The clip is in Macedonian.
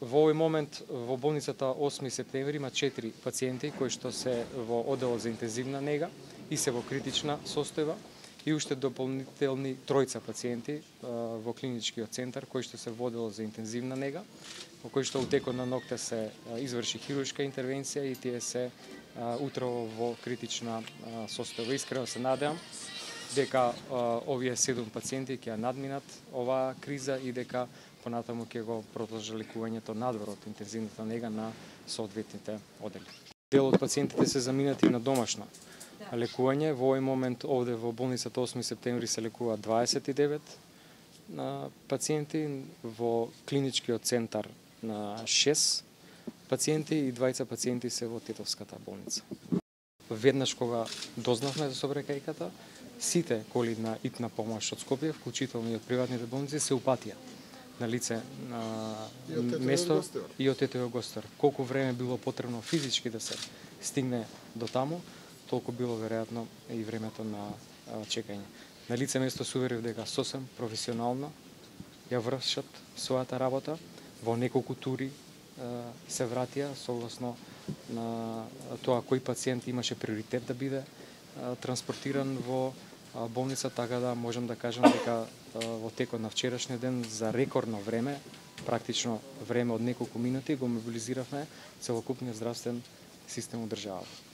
Во овој момент во болницата 8 септември има 4 пациенти кои што се во одделот за интензивна нега и се во критична состојба и уште дополнителни тројца пациенти во клиничкиот центар кои што се во одделот за интензивна нега, во кој што у текот на ноќта се изврши хируршка интервенција и тие се утрово во критична состојба. Искрено се надевам дека овие 7 пациенти ќе надминат оваа криза и дека понатаму ќе го продолжи лекувањето надвор од интензивната нега на соодветните оддели. Дел од пациентите се заминати на домашно лекување. Во овој момент овде во болницата 8 септември се лекуваат 29 пациенти, во клиничкиот центар на 6 пациенти и 20 пациенти се во Тетовската болница. Веднаш кога дознавме за собрекајката, сите коли на итна помош од Скопје, вклучително и од приватните болници, се упатија на лице на место и од ТТО Гостер. Колку време било потребно физички да се стигне до таму, толку било веројатно и времето на чекање. На лице место се уверив дека сосем професионално ја вршат својата работа, во неколку тури се вратија согласно на тоа кој пациент имаше приоритет да биде транспортиран во болница, така да можам да кажам дека во текот на вчерашниот ден за рекордно време, практично време од неколку минути, го мобилизиравме целокупниот здравствен систем од државата.